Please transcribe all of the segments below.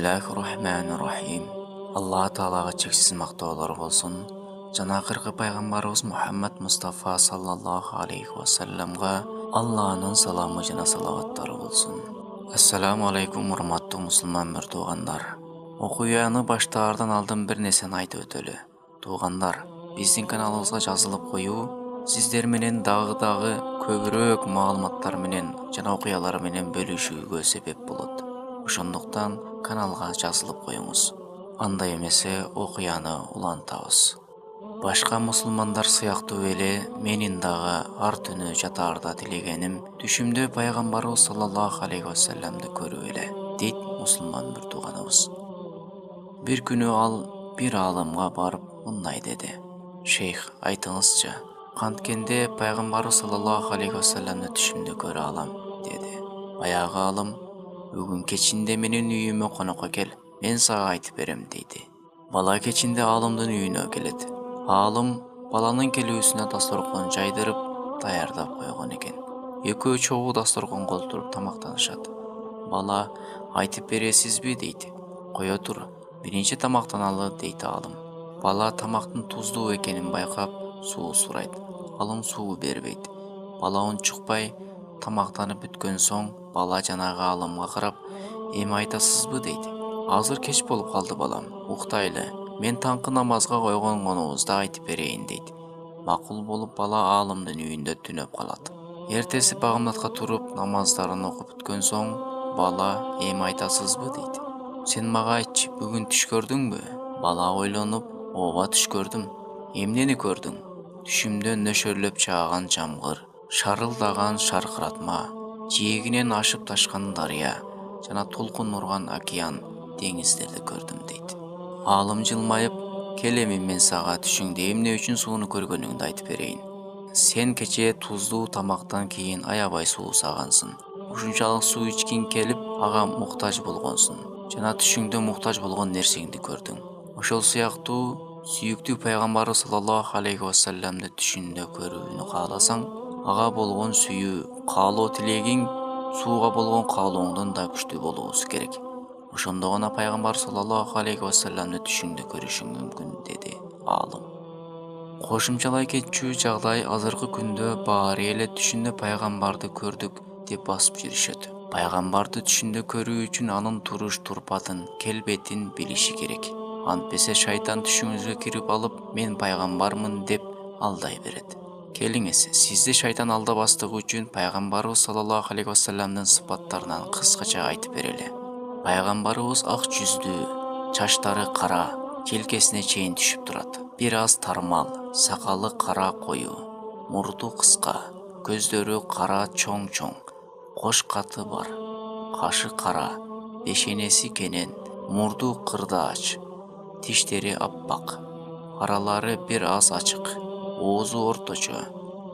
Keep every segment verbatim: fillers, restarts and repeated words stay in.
Бисмиллахир-рахманир-рахим. Алла Таалага чексиз мактоолор болсун. Жана акыркы пайгамбарыбыз Мухаммад Мустафа саллаллаху алейхи ва салламга Алланын саламы жана салаваттары болсун. Ассаламу алейкум, урматтуу мусулман мөр туугандар. Окуяны баштаардан алдын бир нерсени айтып өтөлү. Туугандар, биздин каналыбызга жазылып коюу сиздер менен дагы дагы көбүрөөк маалыматтар менен жана окуялар менен бөлүшүүгө себеп болот. Ошондуктан каналга жазылып коюңуз. Андай эмесе окуяны улантабыз. Башка мусулмандар сыяктуу эле менин дагы ар түнү жатаарда тилегеним түшүмдө пайгамбарыбыз саллаллаху алейхи ва салламды көрүү эле, дейт мусулман бир тууганыбыз. Бир күнү ал бир аалымга барып мындай деди: "Шейх, айтыңызчы, канткенде пайгамбарыбыз саллаллаху алейхи ва салламды түшүмдө көрө алам?" деди. Баягы аалым: "Бүгүн кечинде менин үйүмө конокко кел, мен сага айтып берем" дейди. Бала кечинде аалымдын үйүнө келет. Аалым баланын келүүсүнө дасторкон жайдырып, даярдап койгон экен. Экөө чогуу дасторконго отуруп тамактанышат. Бала: "Айтып бересизби?" дейт. "Кое тур, биринчи тамактаналы" дейт аалым. Бала тамактын туздуу экенин байкап, суу сурайт. Аалым суу бербейт. Бала унчукпай, тамактанып бүткөн соң бала жанагы аалымга карап: "Эми айтасызбы?" дейт. "Азыр кеч болуп калды балам, уктайлы. Мен таңкы намазга койгонгонубузду айтып берейин" дейт. Макул болуп бала аалымдын үйүндө түнөп калат. Эртеси багымдатка туруп намаздарын окуп бүткөн соң бала: "Эми айтасызбы?" дейт. "Сен мага айтчы, бүгүн түш көрдүңбү?" Бала ойлонуп: "Ооба, түш көрдүм." "Эмнени көрдүң?" "Түшүмдө нөшөрлөп жааган жамгыр, шарылдаган шаркыратма, жээгинен ашып ташкан дарыя жана толкун урган океан, деңиздерди көрдүм" дейт. Аалым жылмайып: "Кел, эми мен сага түшүңдө эмне үчүн сууну көргөнүңдү айтып берейин. Сен кечээ туздуу тамактан кийин аябай суусагансың. Ушунчалык суу ичкиң келип, ага муктаж болгонсуң жана түшүңдө муктаж болгон нерсеңди көрдүң. Ошол сыяктуу сүйүктүү пайгамбарыбыз саллаллаху алейхи ва салламды түшүндө көрүүнү кааласаң, ага болгон сүйүү, каалоо тилегиң сууга болгон каалооңдон да күчтүү болуусу керек. Ошондо гана пайгамбар саллаллаху алейхи ва салламды түшүңдө көрүшүң мүмкүн" деди аалым. Кошумчалай кетчү жагдай азыркы күндө баары эле түшүндө пайгамбарды көрдүк деп басып жүрүшөт. Пайгамбарды түшүндө көрүү үчүн анын туруш турпатын, келбетин билиши керек. Антпесе шайтан түшүңүзгө кирип алып, "Мен пайгамбармын" деп алдай берет. Келиңиз, сизди шайтан алдабастыгы үчүн пайгамбарыбыз саллаллаху алейхи ва салламдын сыпаттарынан кыскача айтып берели. Пайгамбарыбыз ак жүздүү, чачтары кара, желкесине чейин түшүп турат. Бир аз тармал, сакалы кара кою, мурду кыска, көздөрү кара чоң-чоң, кош каты бар, кашы кара, бешенеси кенен, мурду кырдаач, тиштери аппак, аралары бир аз ачык, оозу орточо,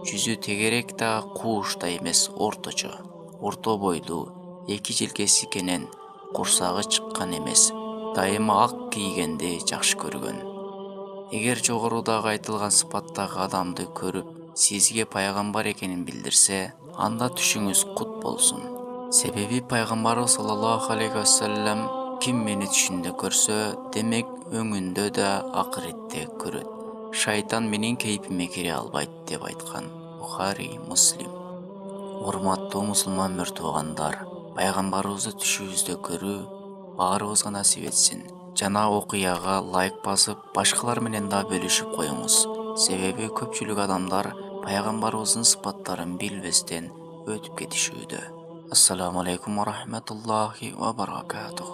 жүзү тегерек да кууш да эмес, орточо, орто бойлуу, эки желкеси кенен, курсагы чыккан эмес, дайыма ак кийгенди жакшы көргөн. Эгер жогорудагы айтылган сыпаттагы адамды көрүп, сизге пайгамбар экенин билдирсе, анда түшүңүз кут болсун. Себеби пайгамбарыбыз саллаллаху алейхи ва саллям: "Ким мени түшүндө көрсө, демек өңүндө да акыретте көрөт. Шайтан менин кейпиме кире албайт" деп айткан. Бухари, Муслим. Урматтуу мусулман мөр туугандар, пайгамбарыбызды түшүбүздө көрүү баарыбызга насип этсин. Жана окуяга лайк басып, башкалар менен да бөлүшүп коюңуз. Себеби көпчүлүк адамдар пайгамбарыбыздын сыпаттарын билбестен өтүп кетишүүдө. Ассаламу алейкум ва рахматуллахи ва баракатух.